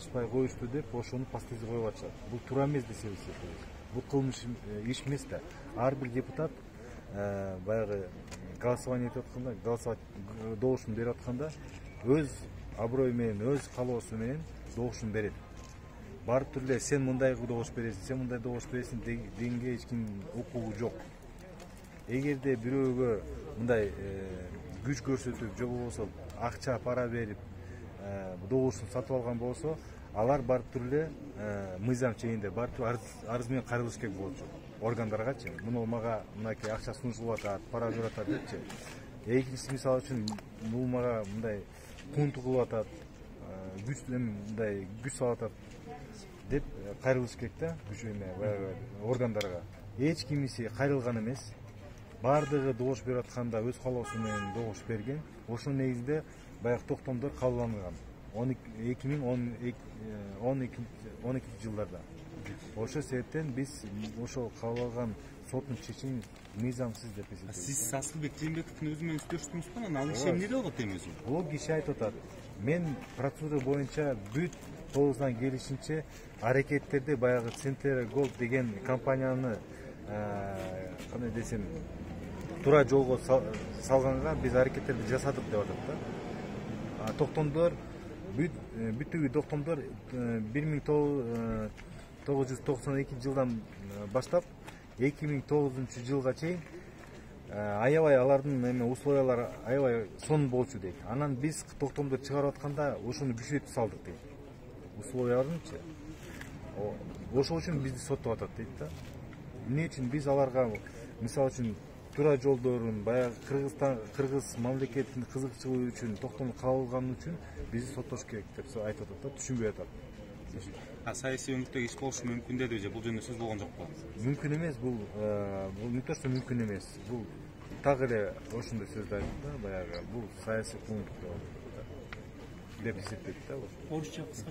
кылышпай коюшту деп ошону пастызды коюп атышат. Бул туура эмес деп эсептейбиз. Бул кылмыш иш эмес да. Ар бир депутат баягы голосование этип атканда, добушун берип атканда өз аброю менен, өз каалоосу менен добушун берет. Барып туруп эле сен мындай добуш бересиң, сен мындай добуш бересиң дегенге эч ким укугу жок. Эгерде бирөөгө мындай күч көрсөтүп, же болбосо акча пара берип добушун сатып алган болсо, алар барып туруп эле мыйзам чегинде барып туруп арыз менен кайрылыш керек болчу органдаргачы. Муну мага мынакей акча сунушулуп атат, пара берип атат депчи. Экинчиси мисалы үчүн бул мага мындай кунту кылып атат, мындай күч салып атат деп кайрылыш керек да, күч баягы органдарга. Эч кимиси кайрылган эмес. Бардыгы добуш берип атканда өз каалоосу менен добуш берген. Ошонун негизинде баягы токтомдор кабылданган 2012 жылдарда. Ошол себептен биз ошол кабыл алган соттун чечимин мыйзамсыз деп эсептейбиз. Сиз Асылбек Жээнбековдун өзү менен сүйлөштүңүзбү? Анан ал киши эмне деп атат эми өзү? Ол киши айтып атат, мен процедура боюнча бүт толугунан келишинче аракеттерди баягы Центр Голд деген компанияны кандай десем туура жолго салганга биз аракеттерди жасадык деп атат да. Токтомдор бүтүгү токтомдор 1992 жылдан баштап 2009 жылга чейин аябай алардын условиялары аябай сонун болчу дейт. Анан биз токтомдор чыгарып атканда ошону күчөтүп салдык дейт. Условияларынчы. Ошол үчүн бизди соттоп атат дейт да. Эмне үчүн биз аларга мисалы үчүн туура жолдорун баягы кыргыз мамлекетинин кызыкчылыгы үчүн токтомду кабыл алган үчүн бизди соттош керек деп айтып атат да, түшүнбөй атат. Саясий өңүттөгү иш болушу мүмкүн деди же бул жөнүндө сөз болгон жокпу? Мүмкүн эмес, бул не то что мүмкүн эмес. Бул так эле ошондой сөздү айтты да, баягы бул саясий пункт деп эсептейт да. Орусча кыска.